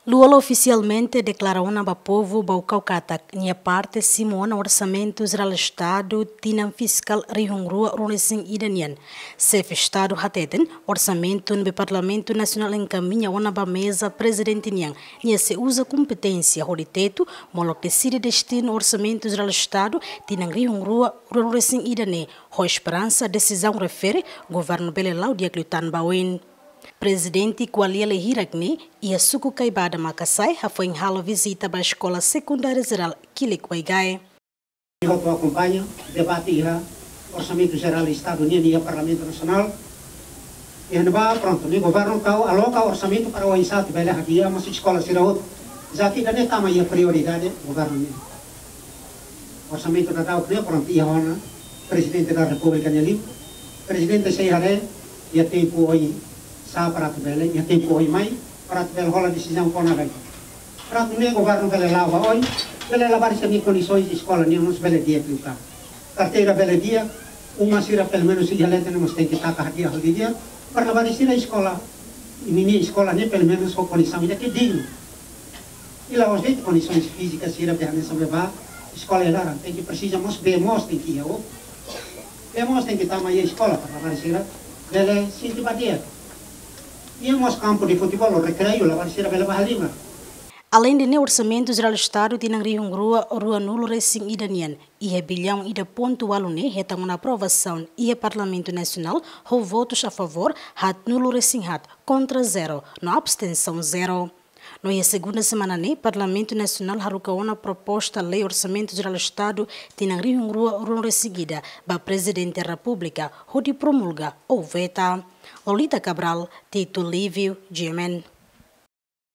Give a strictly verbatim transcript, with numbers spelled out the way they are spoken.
Lú Olo ofisialmente deklara ona ba povu Baucau katak nia parte simu ona Orsamentu Jerál Estadu tinan fiskál rihun rua ruanulu-resin-ida nian. Xefe Estadu hateten, orsamentu ne'ebé Parlamentu Nasionál enkamiña ona ba meza Prezidente nian, nia sei uza kompeténsia hodi tetu, molok deside destinu Orsamentu Jerál Estadu tinan rihun rua ruanulu-resin-ida ne'e, ho esperansa desizaun refere governu bele la'o di'ak liután ba oin. Prezidente Kualia Lehirak ne'e iha suku Kaibada, Makasae, hafoin halo vizita ba Eskola Sekundária Jerál Kilik Waigae. Hotu akompaña debate iha Orsamentu Jerál Estadu nian iha Parlamentu Nasionál. Iha ne'ebá, prontu, ne'e governu tau aloka orsamentu para oinsá atu bele hadi'a mós eskola sira hotu. Dezafio ida-ne'e tama iha prioridade governu nian. Orsamentu daudauk ne'e, prontu, iha ona Prezidente da Repúblika nia livru. Prezidente sei haree iha tempu oinsá para atu bele, iha tempu oin mai, para atu bele hola desizaun kona-ba ida-ne'e. Para atu nune'e governu bele la'o ba oin, bele labarik sira-nia kondisoens eskola nian mós bele di'ak liután. Karteira bele di'ak, uma sira pelumenus iha leten ne'e mós tenke taka hadi'a ho di'ak, para labarik sira eskola, ninia eskola ne'e pelumenus ho kondisaun ida ke dignu. I la'ós de'it kondisoens fízika sira be hanesan be ba eskola iha laran, tenke presiza mós bee moos tenke iha, ou bee moos tenke tama iha eskola para labarik sira bele sente ba di'ak. Iha mós kampu de futeból ou rekreiu, labarik sira bele bá halimar. Aleinde ne'e, Orsamentu Jerál Estadu tinan rihun rua ruanulu-resin-ida nian iha billaun ida pontu ualu ne'e hetan ona aprovasaun iha Parlamentu Nasionál ho votus a favór haatnulu-resin-haat, kontra zero, no abstensaun zero. No iha segunda semana ne'e, Parlamentu Nasionál haruka ona proposta lei Orsamentu Jerál Estadu tinan rihun rua ruanulu-resin-ida ba Prezidente Repúblika hodi promulga ou veta. Lolita Cabral, Tito Livio, G M N.